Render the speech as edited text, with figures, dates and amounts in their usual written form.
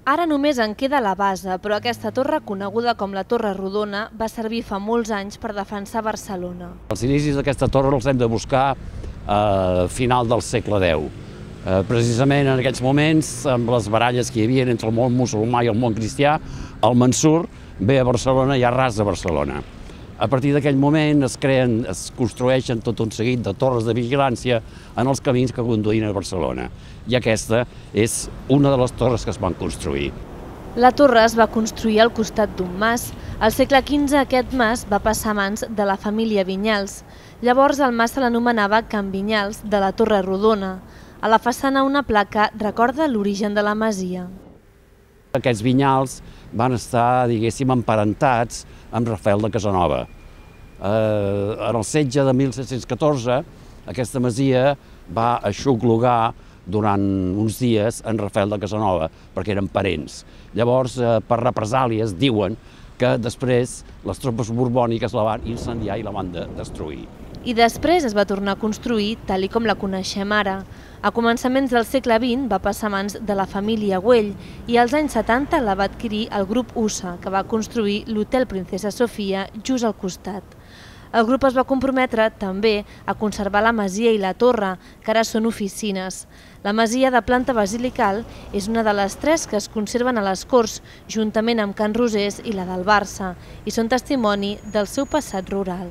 Ara només en queda la base, però aquesta torre, coneguda com la Torre Rodona, va servir fa molts anys per defensar Barcelona. Els inicis d'aquesta torre els hem de buscar a final del segle X. Precisament en aquells moments, amb les baralles que hi havia entre el món musulmà i el món cristià, el Mansur ve a Barcelona i arrasa Barcelona. A partir d'aquell moment es construeixen tot un seguit de torres de vigilància en els camins que conduïen a Barcelona. I aquesta és una de les torres que es van construir. La torre es va construir al costat d'un mas. Al segle XV aquest mas va passar a mans de la família Vinyals. Llavors el mas se l'anomenava Can Vinyals de la Torre Rodona. A la façana una placa recorda l'origen de la masia. Aquests Vinyals van estar, diguéssim, emparentats amb Rafael de Casanova. En el setge de 1714, aquesta masia va aixoplugar durant uns dies en Rafael de Casanova, perquè eren parents. Llavors, per represàlies, diuen que després les tropes borbòniques la van incendiar i la van destruir. I després es va tornar a construir tal com la coneixem ara. A començaments del segle XX va passar a mans de la família Güell i als anys 70 la va adquirir el grup USA, que va construir l'Hotel Princesa Sofia just al costat. El grup es va comprometre també a conservar la masia i la torre, que ara són oficines. La masia de planta basilical és una de les 3 que es conserven a les Corts, juntament amb Can Rosés i la del Barça, i són testimoni del seu passat rural.